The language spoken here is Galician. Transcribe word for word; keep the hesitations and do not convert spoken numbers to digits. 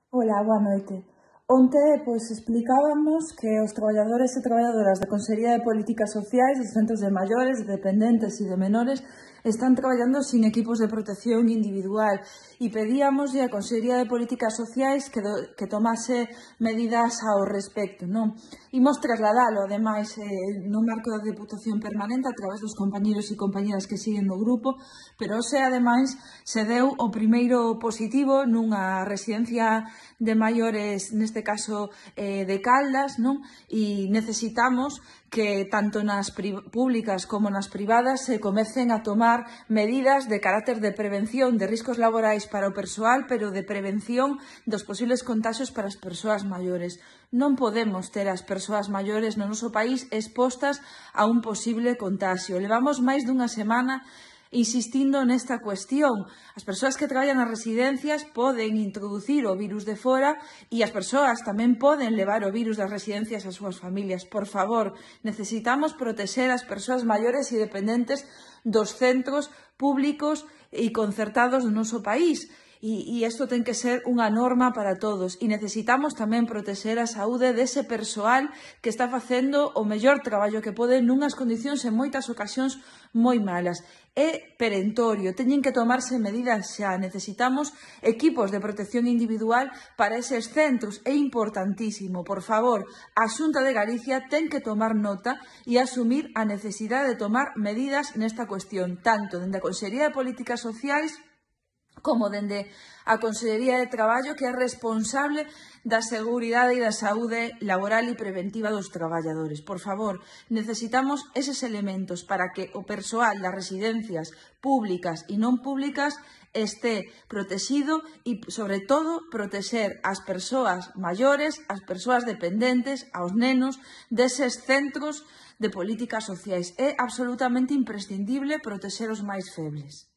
Ola, boa noite. Onte, pois, explicábamos que os traballadores e traballadoras da Consellería de Políticas Sociais dos centros de maiores, de dependentes e de menores están traballando sin equipos de protección individual e pedíamoslle á Consellería de Políticas Sociais que, do, que tomase medidas ao respecto, non? Imos trasladalo, ademais, eh, no marco da Deputación Permanente a través dos compañeros e compañeras que siguen no grupo, pero hoxe, ademais, se deu o primeiro positivo nunha residencia de maiores, neste caso eh, de Caldas, non? E necesitamos que tanto nas públicas como nas privadas se comecen a tomar medidas de carácter de prevención de riscos laborais para o persoal, pero de prevención dos posibles contaxios para as persoas maiores. Non podemos ter as persoas maiores no noso país expostas a un posible contaxio. Levamos máis dunha semana insistindo nesta cuestión. As persoas que traballan nas residencias poden introducir o virus de fora e as persoas tamén poden levar o virus das residencias ás súas familias. Por favor, necesitamos protexer as persoas maiores e dependentes dos centros públicos e concertados do noso país. E, e isto ten que ser unha norma para todos e necesitamos tamén protexer a saúde dese persoal que está facendo o mellor traballo que pode nunhas condicións en moitas ocasións moi malas. É perentorio, teñen que tomarse medidas xa, necesitamos equipos de protección individual para eses centros, é importantísimo. Por favor, a Xunta de Galicia ten que tomar nota e asumir a necesidade de tomar medidas nesta cuestión, tanto dende a Consellería de Políticas Sociais como dende a Consellería de Traballo, que é responsable da seguridade e da saúde laboral e preventiva dos traballadores. Por favor, necesitamos eses elementos para que o persoal das residencias públicas e non públicas este protegido e, sobre todo, protexer as persoas maiores, as persoas dependentes, aos nenos deses centros de políticas sociais. É absolutamente imprescindible protexer os máis febles.